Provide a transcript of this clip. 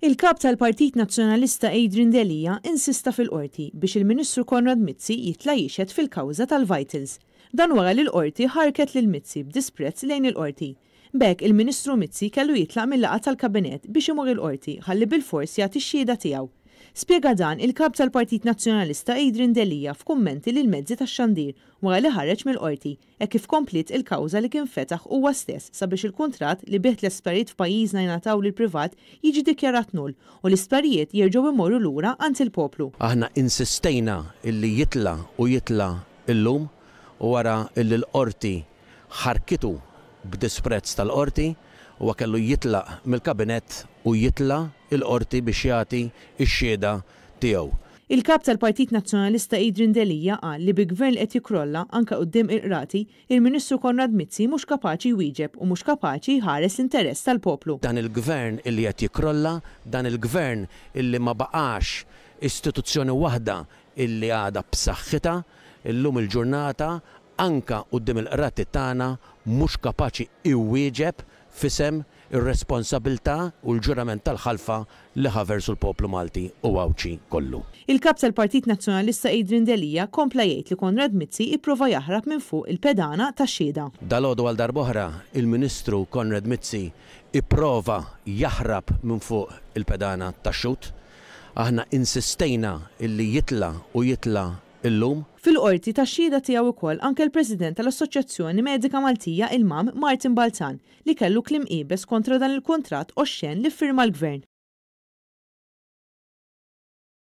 Il-Kap tal-Partit Nazzjonalista Adrian Delia insista fil-Qorti biex il-Ministru Konrad Mizzi jitla' jixhed fil-kawża tal-Vitals. Dan wara li l-Qorti ħarrket lil Mizzi b'disprezz lejn il-Qorti. B'hekk il-Ministru Mizzi kellu jitlaq mil-laqgħa tal-Kabinett biex imur il-Qorti ħalli bilfors jagħti x-xhieda tiegħu. Spjega dan il-Kap tal-Partit Nazzjonalista Adrian Delia f'kummenti lill-mezzi tax-xandir wara li ħareġ mill-Qorti hekk kif kompliet il-kawża li kien fetaħ huwa stess sabiex il-kuntratt li bih l-isptarijiet f'pajjiżna jingħataw lill-privat jiġi dikjarat null u l-isptarijiet jerġgħu jmorru lura għand il-poplu. Aħna insistejna illi jitla' u jitla' illum u wara illi l-Qorti ħarkitu b'disprezz tal-Qorti, huwa kellu jitlaq mill-Kabinett u jitla' l-Qorti biex jagħti x-xhieda tiegħu. Il-Kap tal-Partit Nazzjonalista Adrian Delia qal li bi Gvern li qed jikkrolla anke quddiem il-Qrati, il-Ministru Konrad Mizzi mhux kapaċi jwieġeb u mhux kapaċi jħares l-interess tal-poplu. Dan il-Gvern illi qed jikkrolla, dan il-Gvern illi ma baqax istituzzjoni waħda illi għadha b'saħħitha, illum il-ġurnata anke quddiem il-Qrati tagħna mhux kapaċi iwieġeb f'isem ir-responsabilità u l-ġurament tal-ħalfa li ħa versu l-poplu Malti u Għawdxi kollu. Il-Kap tal-Partit Nazzjonalista Adrian Delia kompla jgħid li Konrad Mizzi ipprova jaħrab minn fuq il-pedana tax-xhieda. Dalgħodu għal darb'oħra il-Ministru Konrad Mizzi ipprova jaħrab minn fuq il-pedana tax-xhud. Aħna insistejna illi jitla' u jitla' illum. Fil-Qorti ta x-xhieda tiegħu wkoll anke l-President tal-Assoċjazzjoni Medika Maltija, il-MAM, Martin Balzan, li kellu kliem iebes kontra dan il-kuntratt oxxen li ffirma l-Gvern.